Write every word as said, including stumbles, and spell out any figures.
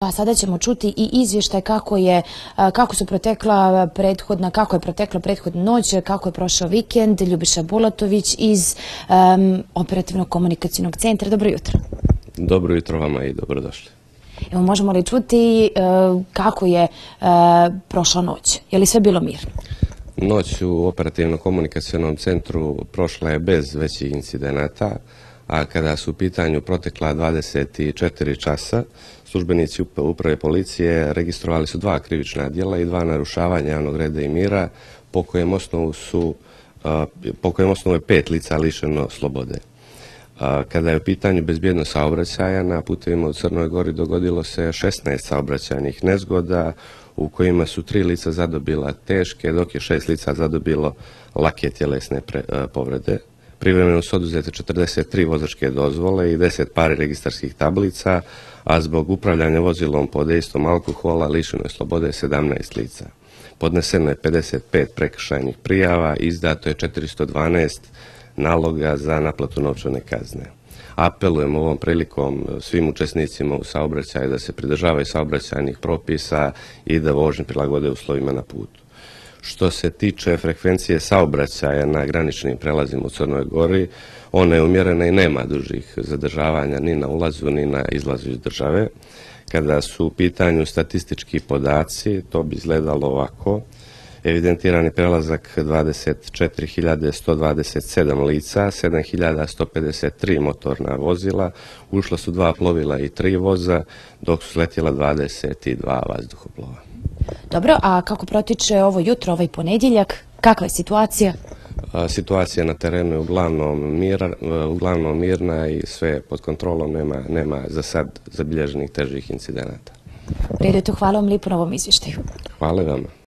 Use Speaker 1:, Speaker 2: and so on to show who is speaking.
Speaker 1: A sada ćemo čuti i izvještaj kako je, kako su protekla prethodna, kako je protekla prethodna noć, kako je prošao vikend. Ljubiša Bulatović iz um, Operativnog komunikacijnog centra. Dobro jutro.
Speaker 2: Dobro jutro vama i dobrodošli.
Speaker 1: Evo, možemo li čuti uh, kako je uh, prošla noć? Je li sve bilo mirno?
Speaker 2: Noć u Operativnom komunikacijnom centru prošla je bez većih incidenata, a kada su u pitanju protekla dvadeset četiri časa, službenici uprave policije registrovali su dva krivična djela i dva narušavanja javnog reda i mira, po kojem osnovu su po kojem osnovu je pet lica lišeno slobode. Kada je u pitanju bezbjednost saobraćaja, na putevima u Crnoj Gori dogodilo se šesnaest saobraćajnih nezgoda u kojima su tri lica zadobila teške, dok je šest lica zadobilo lake tjelesne povrede. Privremeno su oduzete četrdeset tri vozačke dozvole i deset pari registarskih tablica, a zbog upravljanja vozilom pod dejstvom alkohola lišeno je slobode sedamnaest lica. Podneseno je pedeset pet prekršajnih prijava i izdato je četiristo dvanaest naloga za naplatu novčane kazne. Apelujemo ovom prilikom svim učesnicima u saobraćaju da se pridržavaju saobraćajnih propisa i da vožnju prilagode uslovima na putu. Što se tiče frekvencije saobraćaja na graničnim prelazima u Crnoj Gori, ona je umjerena i nema dužih zadržavanja ni na ulazu ni na izlazu iz države. Kada su u pitanju statistički podaci, to bi izgledalo ovako. Evidentirani prelazak dvadeset četiri hiljade sto dvadeset sedam lica, sedam hiljada sto pedeset tri motorna vozila, ušla su dva plovila i tri voza, dok su sletjela dvadeset dva vazduhoplova.
Speaker 1: Dobro, a kako protiče ovo jutro, ovaj ponedjeljak? Kakva je situacija?
Speaker 2: Situacija na terenu je uglavnom, mir, uglavnom mirna i sve pod kontrolom, nema, nema za sad zabilježenih težih incidenata.
Speaker 1: Redu, hvala vam lijepo na ovom izvještaju.
Speaker 2: Hvala vama.